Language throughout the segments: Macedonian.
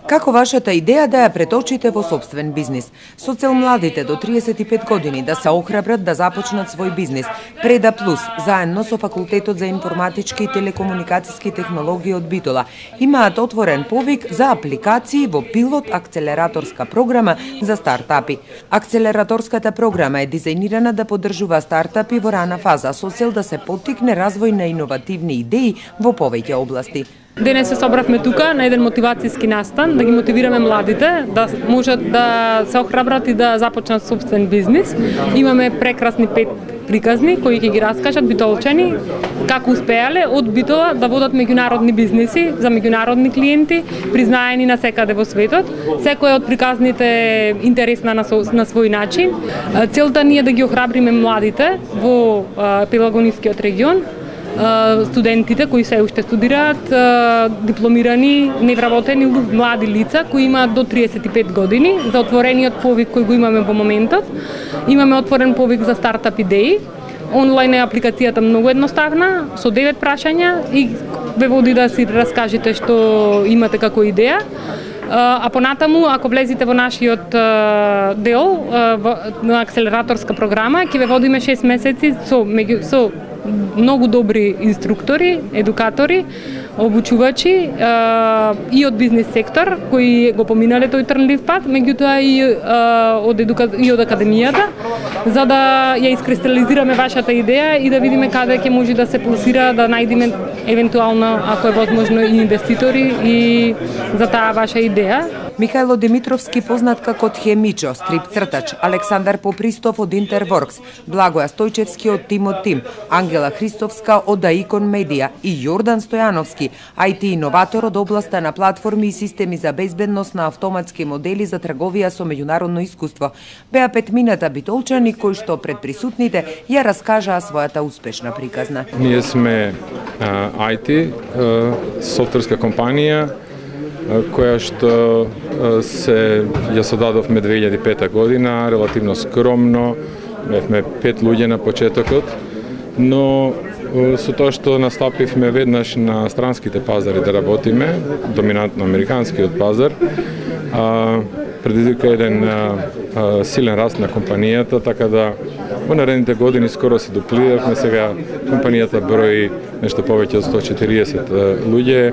Како вашата идеја да ја преточите во сопствен бизнис? Со цел младите до 35 години да се охрабрат да започнат свој бизнис, Преда Плюс, заедно со Факултетот за информатички и телекомуникацијски технологии од Битола, имаат отворен повик за апликации во пилот акцелераторска програма за стартапи. Акцелераторската програма е дизајнирана да поддржува стартапи во рана фаза со цел да се поттикне развој на иновативни идеи во повеќе области. Денес се собравме тука на еден мотивацијски настан, да ги мотивираме младите, да можат да се охрабрат и да започнат собствен бизнис. Имаме прекрасни 5 приказни кои ќе ги раскажат битолчани како успеале од Битола да водат меѓународни бизниси за меѓународни клиенти, признаени на секаде во светот. Секоја од приказните интересна на свој начин. Целта ни е да ги охрабриме младите во Пелагонискиот регион, студентите кои се уште студираат, дипломирани, невработени млади лица кои имаат до 35 години, за отворениот повик кој го имаме во моментот. Имаме отворен повик за стартап идеи. Онлайн е апликацијата многу едноставна, со 9 прашања и ве води да си раскажете што имате како идеја. А понатаму, ако влезете во нашиот дел на акселераторска програма, ќе ве водиме 6 месеци со многу добри инструктори, едукатори, обучувачи и од бизнис сектор кои го поминале тој трнлив пат, меѓутоа и од академијата, за да ја искристализираме вашата идеја и да видиме каде ќе може да се пласира, да најдеме евентуално, ако е возможно, и инвеститори и за таа ваша идеја. Михајло Димитровски, познат како Тхемичо, стрип-цртач, Александар Попристов од Интерворкс, Благоја Стојчевски од Тим од Тим, Ангела Христовска од Аикон Медија и Јордан Стојановски, IT иноватор од областа на платформи и системи за безбедност на автоматски модели за трговија со меѓународно искуство, беа петмината битолчани кои што пред присутните ја раскажаа својата успешна приказна. Ние сме IT, софтверска компанија, која што ја содадовме 2005 година, релативно скромно, бевме 5 луѓе на почетокот, но со тоа што настапивме веднаш на странските пазари да работиме, доминантно американскиот пазар, предизвика еден силен раст на компанијата, така да во наредните години скоро се дуплиравме. Сега компанијата брои нешто повеќе од 140 луѓе.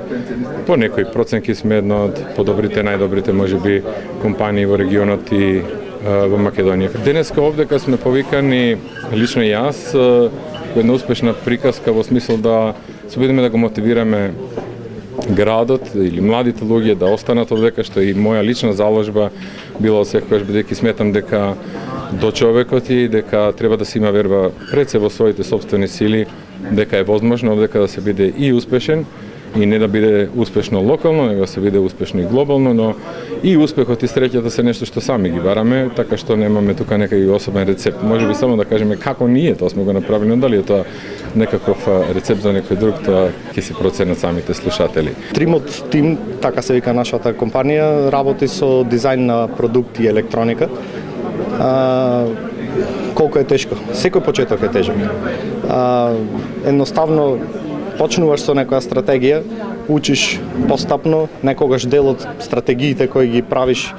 По некои проценки сме една од подобрите, најдобрите можеби компании во регионот и во Македонија. Денеска овдека сме повикани, лично и јас, во една успешна приказка во смисол да се обидиме да го мотивираме градот или младите луѓе да останат овдека, што и моја лична заложба било секогаш, бидејќи сметам дека до човекот и дека треба да се има верба пред се во своите сопствени сили, дека е возможно овдека да се биде и успешен, и не да биде успешно локално, него да се биде успешно и глобално, но и успехот и среќата се нешто што сами ги бараме, така што немаме тука некај особен рецепт. Може би само да кажеме како ние тоа сме го направили, но дали е тоа некаков рецепт за некој друг, тоа ќе се проценат самите слушатели. Тримот тим, така се вика нашата компанија, работи со дизајн на продукти и електроника. Колку е тешко? Секој почеток е тежок. Едноставно почнуваш со некоја стратегија, учиш постапно, некогаш дел од стратегиите кои ги правиш,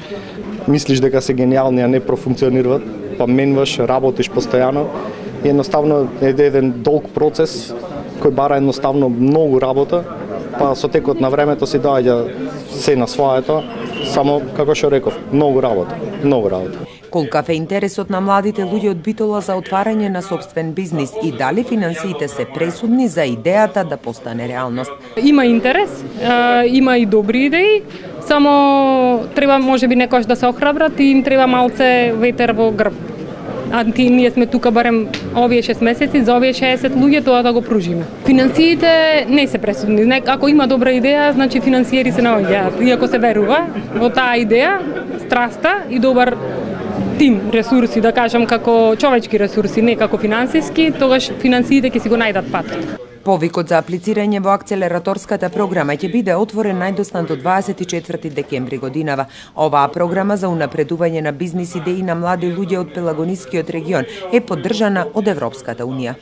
мислиш дека се гениални, а не профункционираат, па менваш, работиш постојано. И едноставно е еден долг процес кој бара едноставно многу работа, па со текот на времето си доаѓа се на своето, само како што реков, многу работа, многу работа. Колкав е интересот на младите луѓе од Битола за отварање на сопствен бизнис и дали финансиите се пресудни за идејата да постане реалност? Има интерес, има и добри идеи, само треба можеби некојаш да се охрабрат и им треба малце ветер во грб. Ние сме тука барем овие 6 месеци, за овие 60 луѓе тоа да го пружиме. Финансиите не се пресудни. Ако има добра идеја, значи финансиери се наоѓаат. И ако се верува во таа идеја, страста и добар тим ресурси, да кажам како човечки ресурси, не како финансиски, тогаш финансиите ќе си го најдат патот. Повикот за аплицирање во акцелераторската програма ќе биде отворен најдоснат до 24 декември годинава. Оваа програма за унапредување на бизнис идеи на млади луѓе од Пелагонискиот регион е поддржана од Европската унија.